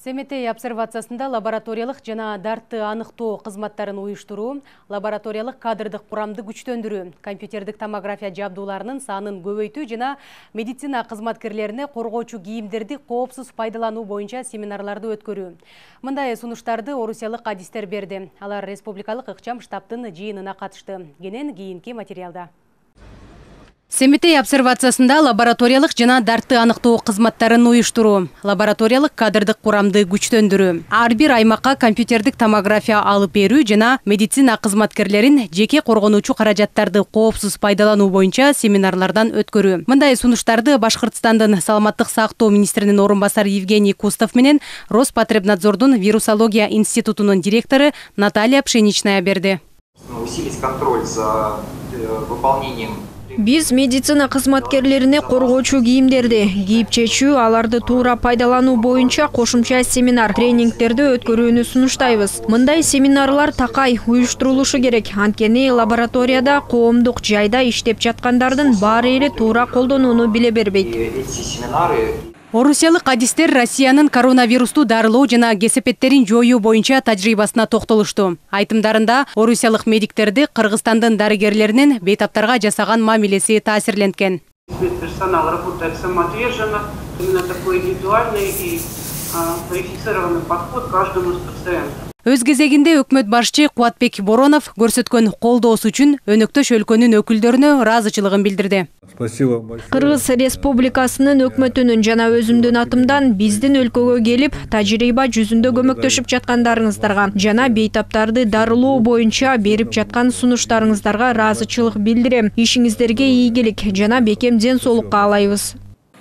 Семетей обсервациясында лабораториялык жана дартты аныктоо кызматтарын уюштуруу, лабораториялык кадрдык курамды күчтөндүрүү, компьютердик томография жабдууларынын санын көбөйтүү жана медицина кызматкерлерине коргоочу кийимдерди коопсуз пайдалануу боюнча семинарларды өткөрүү. Мындай сунуштарды орусиялык адистер берди. Алар республикалык ыкчам штабтын жыйынына катышты. Кенен кийинки материалда. Семетей обсервациясында лабораториялык жана дартты аныктоо кызматтарын уюштуруу, лабораториялык кадрдык курамды күчтөндүрүү, ар бир аймакка компьютердик томография алып берүү жана медицина кызматкерлерин жеке коргонуучу каражаттарды коопсуз пайдалануу боюнча семинарлардан өткөрүү. Мындай сунуштарды Башкыртстандын саламаттык сактоо министринин орун басары Евгений Кустов менен Роспотребнадзордун вирусология институтунун директору Наталья Пшеничная берди. Усилить контроль за выполнением. Биз медицина кызматкерлерине коргоочу кийимдерди кийип чечүү, аларды туура пайдалануу боюнча кошумча семинар, тренингтерди өткөрүүнү сунуштайбыз. Мындай семинарлар такай уюштурулушу керек. Анткени лабораторияда коомдук жайда иштеп жаткандардын баары эле туура колдонууну биле бербейт. Орусиялык адистер Россиянын коронавирусту дарылоо жана кесепеттерин жоюу боюнча тажрыйбасына токтолушту. Айтымдарында орусиялык медиктерди Кыргызстандын дарыгерлеринин бейтаптарга жасаган мамилеси таасирленткен. Медперсонал работает самоотверженно, именно такой индивидуальный и квалифицированный подход к каждому из пациентов. Өз кезегинде өкмөт башчы Кубатбек Боронов көрсөткөн колдоосу үчүн өнөктөш өлкөнүн өкүлдөрүнө ыраазычылыгын билдирди. Кыргыз Республикасынын өкмөтүнүн жана өзүмдүн атымдан биздин өлкөгө келип, тажрыйба жүзүндө көмөктөшүп жаткандарыңыздарга жана бейтаптарды дарылоо боюнча берип жаткан сунуштарыңыздарга ыраазычылык билдирем. Ишиңиздерге ийгилик жана бекем ден соолукка каалайбыз.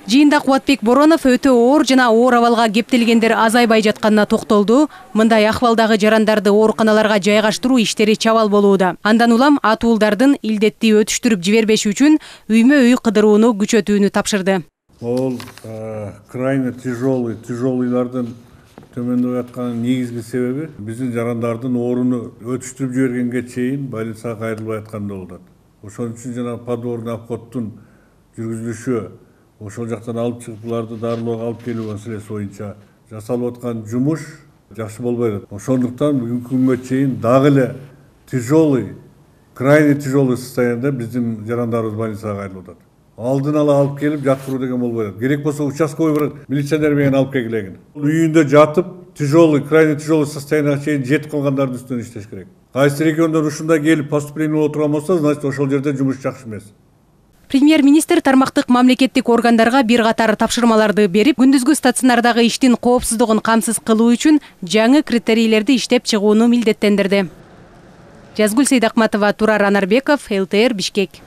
Жыйында Кубатбек Боронов өтө оор жана оор абалга кептелгендер азайбай жатканына токтолду. Мындай акыбалдагы жарандарды ооруканаларга жайгаштыруу иштери чабал болууда. Андан улам атуулдардын илдетти өтүштүрүп жибербеши үчүн үймө-үй кыдырууну күчөтүүнү тапшырды. Ол крайне тяжелыйлардын төмөндөп атканын негизги себеби биздин жарандардын ооруну өтүштүрүп жибергенге чейин больницага кайрылбай атканда болот. Ошон үчүн жана подворный обходдун жүргүзүлүшү, ошол жактан алып чыгып буларды дарылоого алып келүү маселеси боюнча жасалып аткан жумуш жакшы болбой атат. Ошондуктан бүгүнкү күнгө чейин дагы эле крайне тяжелый состояниеда биздин жарандарыбыз больницага кайрылып атат. Алдын ала алып келип жаткыруу деген болбой атат. Керек болсо участковый бир милиционер менен алып келгилегин. Үйүндө жатып крайне тяжелый состоянияга чейин жетип калгандардын үстүнөн иштеш керек. Кайсы региондор ушундай келип поступление боло турган болсо, значит ошол жерде жумуш жакшы эмес. Премьер-министр тармактык мамлекеттик органдарга бир катар тапшырмаларды берип, күндүзгү стационардагы иштин коопсуздугун камсыз кылуу үчүн жаңы критерийлерди иштеп чыгууну милдеттендирди. Жазгүл Сейдакматова, Турар Анарбеков, ЛТР, Бишкек.